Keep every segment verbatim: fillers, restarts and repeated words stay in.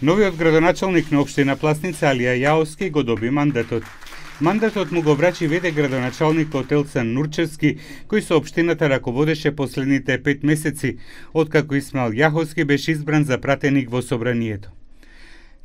Новиот градоначалник на општина Пласница Алија Јаовски го доби мандатот. Мандатот му го врачи веде градоначалникот Елцан Нурчевски, кој со општината раководеше последните пет месеци, откако Исмаил Јаховски беше избран за пратеник во собранието.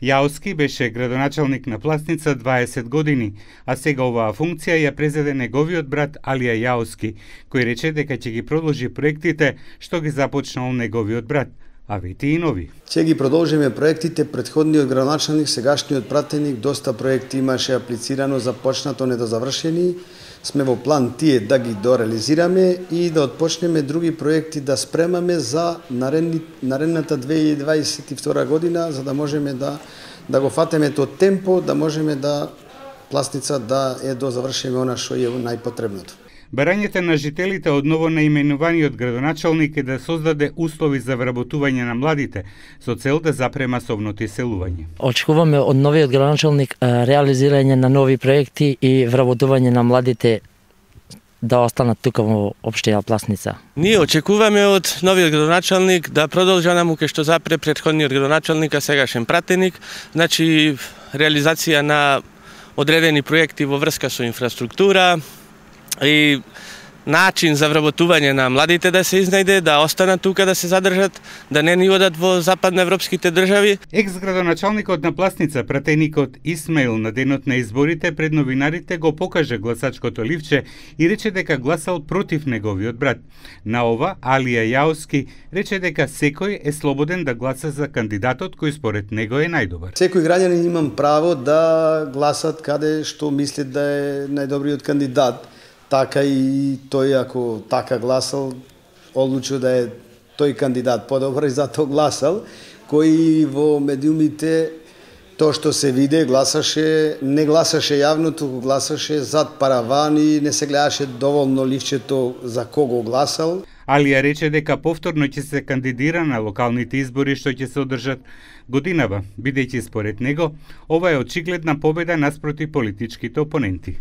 Јаовски беше градоначалник на Пласница дваесет години, а сега оваа функција ја презеде неговиот брат Алија Јаовски, кој рече дека ќе ги продолжи проектите што ги започнал неговиот брат, а вети и нови. Ќе ги продолжиме проектите, предходниот градоначалник, сегашниот пратеник, доста проекти имаше аплицирано, започнато, недозавршени. Сме во план тие да ги дореализираме и да отпочнеме други проекти да спремаме за наредни, наредната две илјади дваесет и втора година, за да можеме да да го фатеме тоа темпо, да можеме да Пласница да е дозавршиме она што е најпотребното. Барањето на жителите од ново наименуваниот градоначалник е да создаде услови за вработување на младите со цел да запре масовното иселување. Очекуваме од новиот градоначалник реализирање на нови проекти и вработување на младите да останат тука во општина Пласница. Ние очекуваме од новиот градоначалник да продолжи онаму кај што запре претходниот градоначалник, а сегашен пратеник, значи реализација на одредени проекти во врска со инфраструктура и начин за вработување на младите да се изнајде, да останат тука, да се задржат, да не ни одат во западноевропските држави. Екс-градоначалникот на Пласница, пратеникот Исмаил, на денот на изборите пред новинарите го покажа гласачкото ливче и рече дека гласал против неговиот брат. На ова, Алија Јаовски рече дека секој е слободен да гласа за кандидатот кој според него е најдобар. Секој граѓанин имам право да гласат каде што мисли да е најдобриот кандидат. Така и тој, ако така гласал, одлучил да е тој кандидат подобар и затоа гласал, кој во медиумите тоа што се виде гласаше, не гласаше јавно, туку гласаше зад параван и не се гледаше доволно ливчето за кого гласал. Алија рече дека повторно ќе се кандидира на локалните избори што ќе се одржат годинава, бидејќи според него ова е очигледна победа наспроти политичките опоненти.